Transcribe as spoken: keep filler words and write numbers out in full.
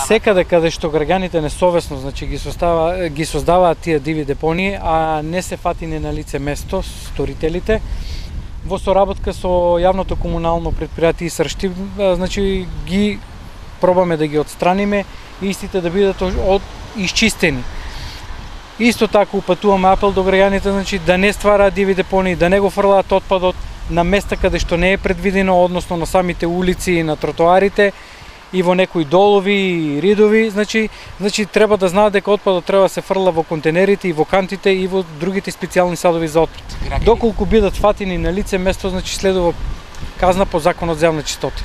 секаде каде што граѓаните несовесно, значи ги создава ги создаваат тие диви депонии, а не се фатини на лице место сторителите, во соработка со јавното комунално претпријатие Исршти, значи ги пробаме да ги отстраниме и истите да бидат од исчистени. Исто така упатуваме апел до граѓаните, значи да не ствараат диви депонии, да не го фрлаат отпадот на места каде што не е предвидено, односно на самите улици и на тротоарите и во некои долови и ридови, значи значи треба да знаат дека отпадот треба да се фрла во контейнерите и во кантите и во другите специјални садови за отпад. Доколку бидат фатини на лице место, значи следува казна по Законот за јавна чистота.